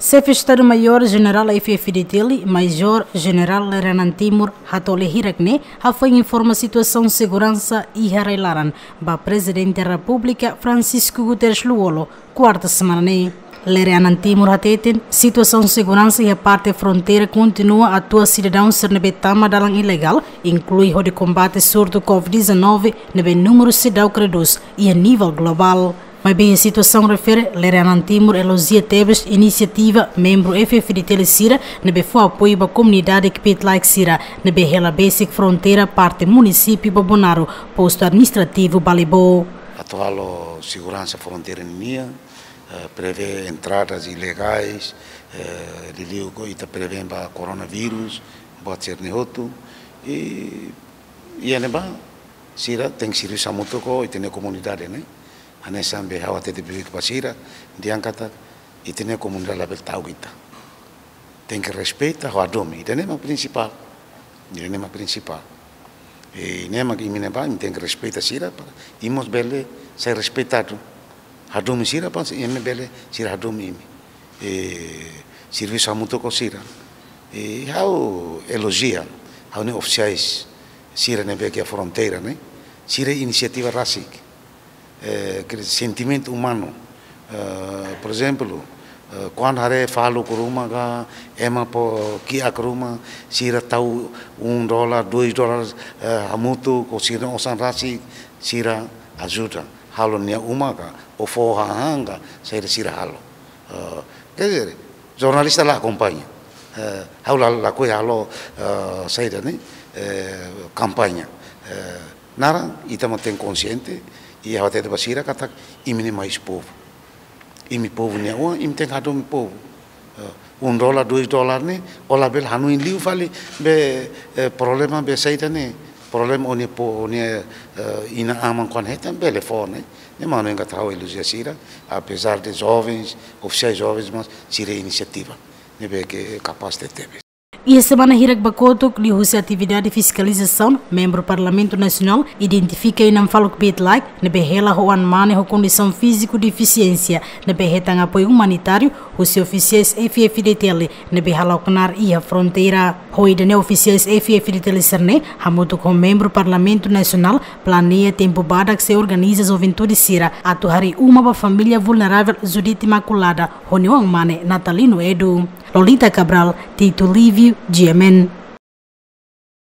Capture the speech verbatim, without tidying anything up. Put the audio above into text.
Xefe Estadu-Maiór Jenerál F-FDTL, Majór Jenerál Lere Anan Timur, hato'o lia hirak ne'e, hafoin informa situasaun seguransa iha rai-laran ba Prezidente Repúblika Francisco Guterres Lú-Olo, kuarta semana ne'e. Lere Anan Timur hateten, situasaun seguransa iha parte fronteira kontinua atua sidadaun sira ne'ebé tama dalan ilegál, inklui hodi kombate surtu COVID dezanove ne'ebé númeru seidauk redús iha nivel globál. Maibé iha situasaun refere, Lere Anan Timur elojia tebes inisiativa membru F-FDTL sira ne'ebé fó apoiu ba komunidade kbiit-laek sira ne'ebé hela besik fronteira parte munisípiu Bobonaro, postu administrativu Balibó. Atu halo seguransa fronteira nian, eh, prevee entradas ilegais, eh, liuliu ita prevee ba koronavírus, buat sira-ne'e hotu, i, i iha ne'ebá, sira tenke servisu hamutuk ho ita-nia komunidade ne'e. Hanesan be ha'u hatete ba sira, dehan katak ita-nia komunidade labele ta'uk ita. Tenke respeita, hadomi. Ida-ne'e mak prinsipál. Ida-ne'e mak prinsipál. I ne'e mak imi ne'ebá, imi tenke respeita sira, para imi mós bele sai respeitadu. Hadomi sira, para imi bele, sira hadomi imi. I servisu hamutuk ho sira. I ha'u elojia, ha'u-nia ofisiais sira ne'ebé iha fronteira ne'e, sira inisiativa rasik. Eh, ke sentimentu umanu. Eh, por ezemplu, eh, kuandu haree faluk ruma ka, ema fó kiak ruma, sira tau um dólar, dois dólares, eh, hamutuk ho sira osan rasik, sira ajuda. Halo nia uma ka, ou fó hahán ka, saida sira halo. Eh, quer dizer, jornalista la akompaña. Eh, ha'u la, lakohi halo, eh, saida ne'e, eh, kampaña. Eh, naran, ita mós tenke konxiente, i ha'u hatete ba sira katak imi ne'e mais povu. Imi povu nia oan, imi tenke hadomi povu. Eh, um dólar, dois dólar ne'e, ó labele hanoin liu fali be, eh, problema be saida ne'e. Problema ó-nia po, ó-nia, eh, inan-aman kuandu hetan bele fó ne'e. Ne'e mak ha'u hanoin katak ha'u elojia sira, apezar de jovens, ofisiais jovens, mas sira inisiativa ne'ebé ke kapás tebetebes. Iha semana hirak ba kotuk, liuhusi atividade fiskalizasaun, membru Parlamentu Nasionál identifika inan faluk kbiit-laek ne'ebé hela ho oan-mane ho kondisaun fíziku defisiénsia ne'ebé hetan apoiu umanitáriu husi ofisiais F-FDTL ne'ebé hala'o knaar iha fronteira. Ho ida-ne'e ofisiais F-FDTL sira-ne'e hamutuk ho membru Parlamentu Nasionál planeia tempu badak sei organiza juventude sira atu harii uma ba família vulneravel Judite Imaculada ho nia oan-mane Natalino Edu. Lolita Cabral, Tito Lívio, G M N.